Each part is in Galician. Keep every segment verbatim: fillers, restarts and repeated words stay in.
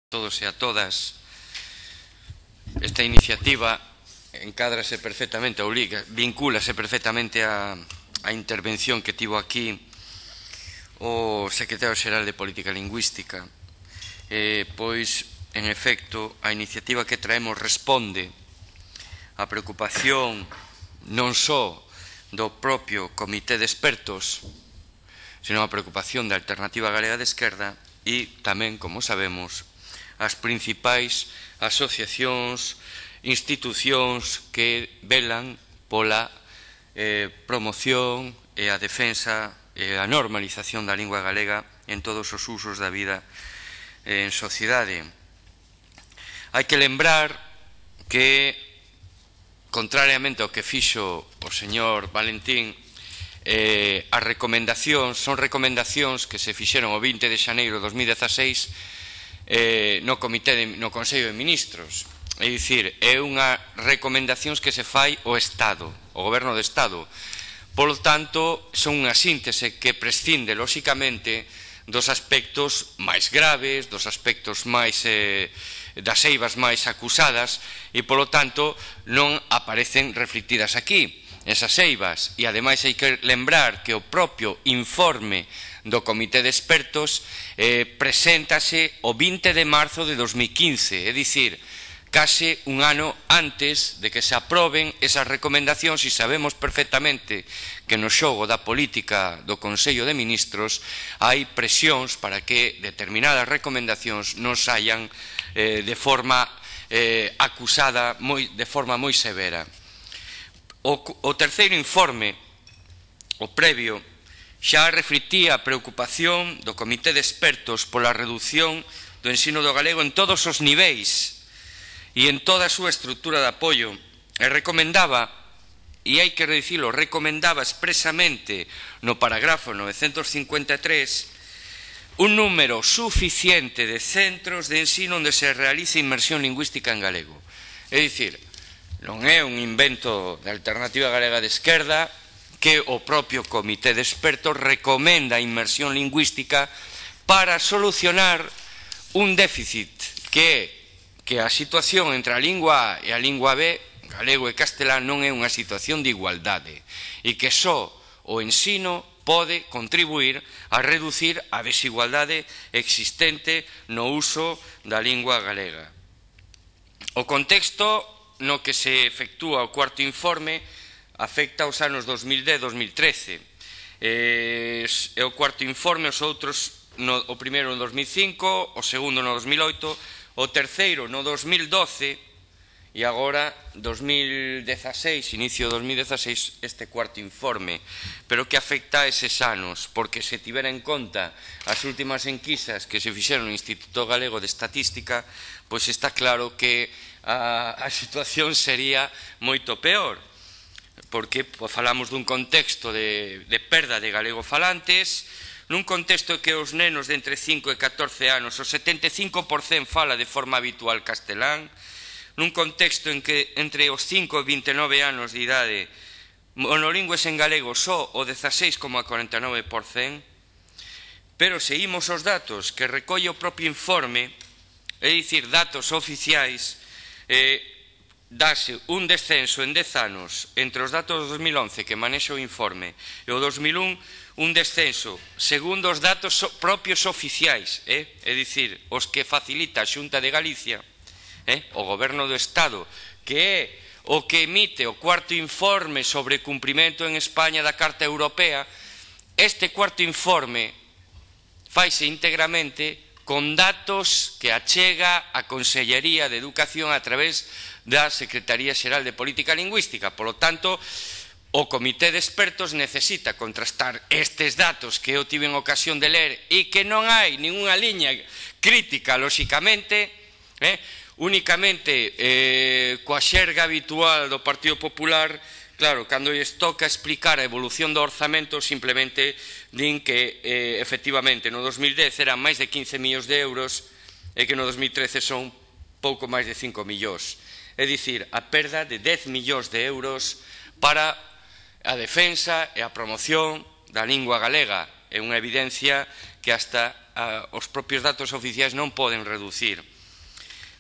todos e a todas. Esta iniciativa encádrase perfectamente, ou liga, vincúlase perfectamente a, a intervención que tivo aquí o secretario xeral de Política Lingüística. Eh, pois, en efecto, a iniciativa que traemos responde á preocupación non só do propio Comité de Expertos, senón a preocupación da Alternativa Galega de Esquerda e tamén, como sabemos, as principais asociacións, institucións que velan pola eh, promoción e a defensa e a normalización da lingua galega en todos os usos da vida eh, en sociedade. Hai que lembrar que, contrariamente ao que fixo o señor Valentín, eh, as recomendacións son recomendacións que se fixeron o vinte de xaneiro de dos mil dezaseis eh, no Comité de, no Consello de Ministros. É dicir, é unha recomendacións que se fai o Estado, o Goberno do Estado. Polo tanto, son unha síntese que prescinde, lóxicamente, dos aspectos máis graves, dos aspectos máis eh, das eivas máis acusadas e, polo tanto, non aparecen reflectidas aquí esas eivas. E, ademais, hai que lembrar que o propio informe do Comité de Expertos eh, preséntase o vinte de marzo de dos mil quince, é dicir, case un ano antes de que se aproben esas recomendacións, e sabemos perfectamente que no xogo da política do Consello de Ministros hai presións para que determinadas recomendacións non saian eh, de forma eh, acusada moi, de forma moi severa. O, o terceiro informe, o previo, xa reflectía a preocupación do Comité de Expertos pola reducción do ensino do galego en todos os niveis e en toda a súa estrutura de apoio, e recomendaba, e hai que dicilo, recomendaba expresamente no parágrafo novecentos cincuenta e tres un número suficiente de centros de ensino onde se realice inmersión lingüística en galego. É dicir, non é un invento da Alternativa Galega de Esquerda, que o propio Comité de Expertos recomenda a inmersión lingüística para solucionar un déficit que é que a situación entre a lingua A e a lingua B, galego e castelán, non é unha situación de igualdade e que só o ensino pode contribuir a reducir a desigualdade existente no uso da lingua galega. O contexto no que se efectúa o cuarto informe afecta aos anos dos mil dez a dos mil trece. É o cuarto informe, os outros, no, o primeiro no dos mil cinco, o segundo no dos mil oito, o terceiro no dos mil doce e agora dos mil dezaseis, inicio de dos mil dezaseis, este cuarto informe. Pero que afecta a eses anos, porque se tivera en conta as últimas enquisas que se fixeron no Instituto Galego de Estatística, pois está claro que a, a situación sería moito peor, porque falamos dun contexto de, de perda de galegofalantes, nun contexto que os nenos de entre cinco e catorce anos o setenta e cinco por cento fala de forma habitual castelán, nun contexto en que entre os cinco e vinte e nove anos de idade monolingües en galego só o dezaseis coma cuarenta e nove por cento, pero se imos os datos que recolle o propio informe, é dicir, datos oficiais, eh, dase un descenso en dez anos entre os datos do dos mil once que manexa o informe e o dos mil un, un descenso segundo os datos propios oficiais, eh? é dicir, os que facilita a Xunta de Galicia, eh? o Goberno do Estado, que é o que emite o cuarto informe sobre cumprimento en España da Carta Europea. Este cuarto informe faise íntegramente con datos que achega a Consellería de Educación a través da Secretaría Xeral de Política Lingüística. Por lo tanto, o Comité de Expertos necesita contrastar estes datos que eu tiven ocasión de ler e que non hai ninguna liña crítica, lóxicamente, eh, únicamente eh, coa xerga habitual do Partido Popular. Claro, cando lles toca explicar a evolución do orzamento, simplemente din que, eh, efectivamente, no dos mil dez eran máis de quince millóns de euros e que no dos mil trece son pouco máis de cinco millóns. É dicir, a perda de dez millóns de euros para a defensa e a promoción da lingua galega. É unha evidencia que hasta ah, os propios datos oficiais non poden reducir.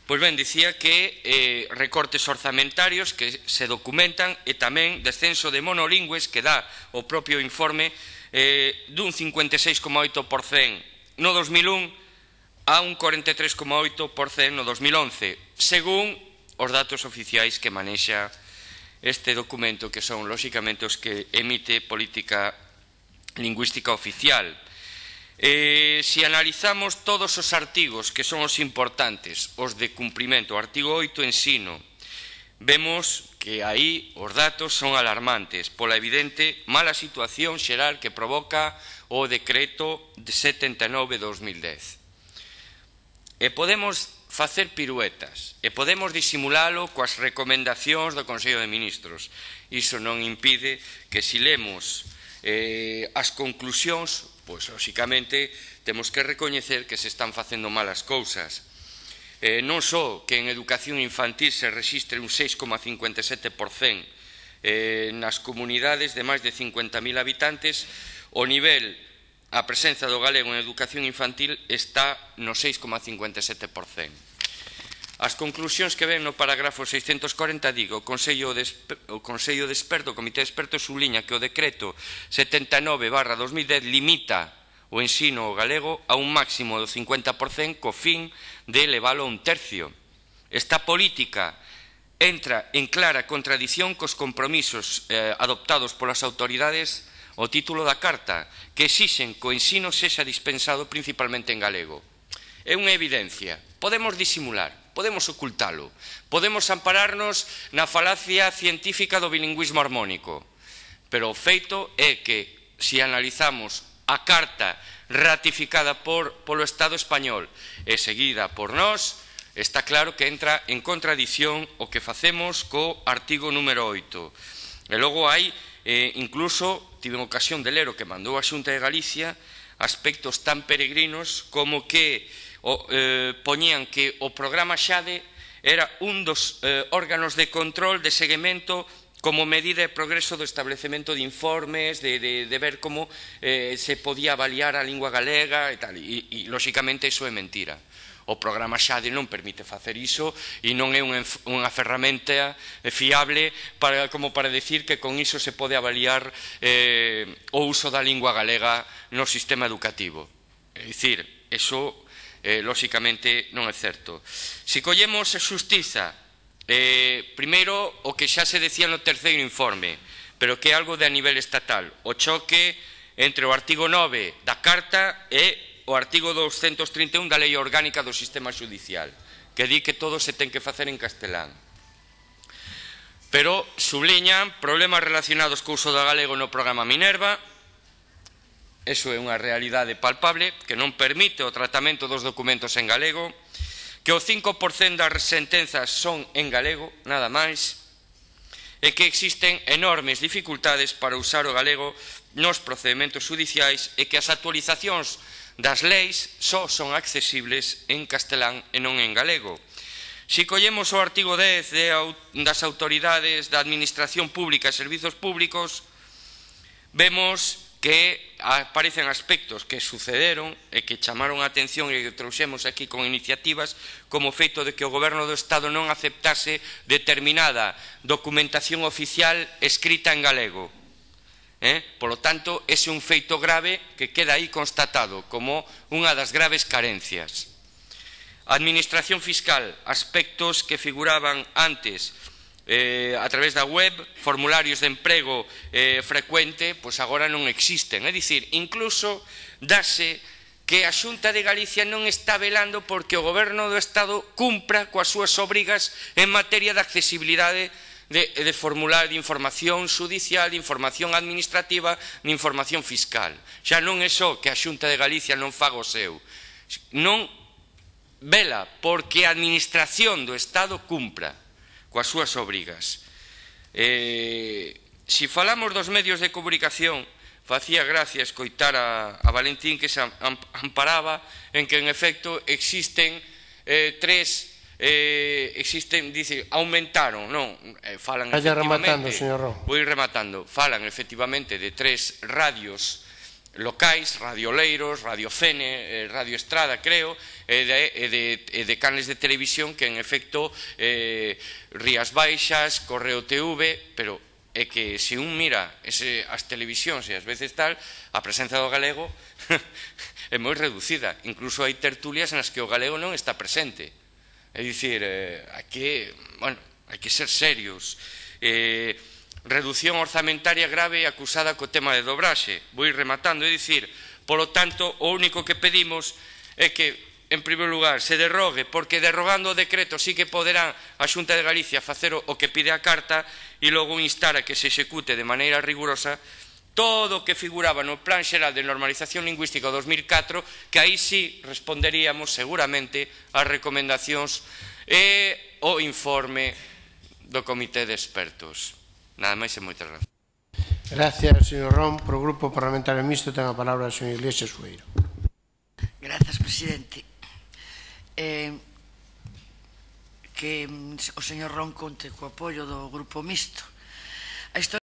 Pois ben, dicía que eh, recortes orzamentarios que se documentan e tamén descenso de monolingües que dá o propio informe eh, dun cincuenta e seis coma oito por cento no dos mil un a un cuarenta e tres coma oito por cento no dos mil once, según os datos oficiais que manexa este documento, que son, lóxicamente, os que emite Política Lingüística Oficial. Eh, se analizamos todos os artigos que son os importantes, os de cumprimento, o artigo oito, ensino, vemos que aí os datos son alarmantes pola evidente mala situación xeral que provoca o decreto de setenta e nove barra dos mil dez. E podemos facer piruetas e podemos disimulalo coas recomendacións do Consello de Ministros. Iso non impide que, se lemos eh, as conclusións, pois, lóxicamente, temos que recoñecer que se están facendo malas cousas. Eh, non só que en educación infantil se rexistre un seis coma cincuenta e sete por cento eh, nas comunidades de máis de cincuenta mil habitantes, o nivel, a presenza do galego en educación infantil está no seis coma cincuenta e sete por cento. As conclusións que ven no parágrafo seiscentos corenta, digo, o Consello de, o Consello de Expertos, o Comité de Expertos, subliña que o decreto setenta e nove barra dos mil dez limita o ensino ao galego a un máximo do cincuenta por cento co fin de elevalo a un tercio. Esta política entra en clara contradición cos compromisos eh, adoptados polas autoridades ao título da Carta, que exixen que o ensino sexa dispensado principalmente en galego. É unha evidencia. Podemos disimular, podemos ocultalo, podemos ampararnos na falacia científica do bilingüismo armónico, pero o feito é que, se analizamos a Carta ratificada por, polo Estado español e seguida por nós, está claro que entra en contradición o que facemos co artigo número oito. E logo hai, eh, incluso, tive ocasión de ler o que mandou a Xunta de Galicia, aspectos tan peregrinos como que o, eh, poñían que o programa Xade era un dos eh, órganos de control, de seguimento, como medida de progreso do establecemento de informes, de, de, de ver como eh, se podía avaliar a lingua galega e tal, e, e lóxicamente iso é mentira. O programa Xade non permite facer iso e non é unha, unha ferramenta fiable para, como para decir que con iso se pode avaliar eh, o uso da lingua galega no sistema educativo. É dicir, iso eh, lóxicamente non é certo. Se collemos a xustiza, eh, primeiro o que xa se decía no terceiro informe, pero que é algo de a nivel estatal, o choque entre o artigo nove da Carta e o artigo doscientos trinta e un da Lei Orgánica do Sistema Judicial, que di que todo se ten que facer en castelán. Pero subliñan problemas relacionados co uso do galego no programa Minerva. Eso é unha realidade palpable que non permite o tratamento dos documentos en galego, que o cinco por cento das sentenzas son en galego, nada máis, e que existen enormes dificultades para usar o galego nos procedementos judiciais e que as actualizacións das leis só son accesibles en castelán e non en galego. Se collemos o artigo dez de, das autoridades da Administración Pública e Servizos Públicos, vemos que aparecen aspectos que sucederon e que chamaron a atención e que trouxemos aquí con iniciativas, como o feito de que o Goberno do Estado non aceptase determinada documentación oficial escrita en galego. Eh? Por lo tanto, ese é un feito grave que queda aí constatado como unha das graves carencias. Administración fiscal, aspectos que figuraban antes eh, a través da web, formularios de emprego eh, frecuente, pois agora non existen. É dicir, incluso dase que a Xunta de Galicia non está velando porque o Goberno do Estado cumpra coas súas obrigas en materia de accesibilidade De, de formular de información judicial, de información administrativa, de información fiscal. Xa non é só que a Xunta de Galicia non faga o seu, non vela porque a Administración do Estado cumpra coas súas obrigas. Eh, se falamos dos medios de comunicación, facía gracia escoitar a, a Valentín que se amparaba en que en efecto existen eh, tres Eh, existen, dice, aumentaron, non, eh, falan Vaya efectivamente, rematando, señor Ro. vou ir rematando, falan efectivamente de tres radios locais, Radio Oleiros, Radio Fene, eh, Radio Estrada, creo, e de, e de, e de canles de televisión que, en efecto, eh, Rías Baixas, Correo T V, pero é que se un mira ese, as televisións e as veces tal, a presenza do galego é moi reducida. Incluso hai tertulias nas que o galego non está presente. É dicir, eh, hai que, bueno, hai que ser serios. Eh, reducción orzamentaria grave acusada co tema de dobraxe. Vou ir rematando, é dicir, polo tanto, o único que pedimos é que, en primeiro lugar, se derrogue, porque derrogando o decreto sí que poderá a Xunta de Galicia facer o que pide a carta, e logo instar a que se execute de maneira rigurosa todo o que figuraba no Plan Xeral de Normalización Lingüística dos mil catro, que aí sí responderíamos seguramente ás recomendacións e o informe do Comité de Expertos. Nada máis e moitas gracias. Gracias, señor Ron. Por o Grupo Parlamentario Mixto ten a palabra o señor Iglesias Sueiro. Gracias, presidente. Eh, que o señor Ron conte co apoio do Grupo Mixto. A historia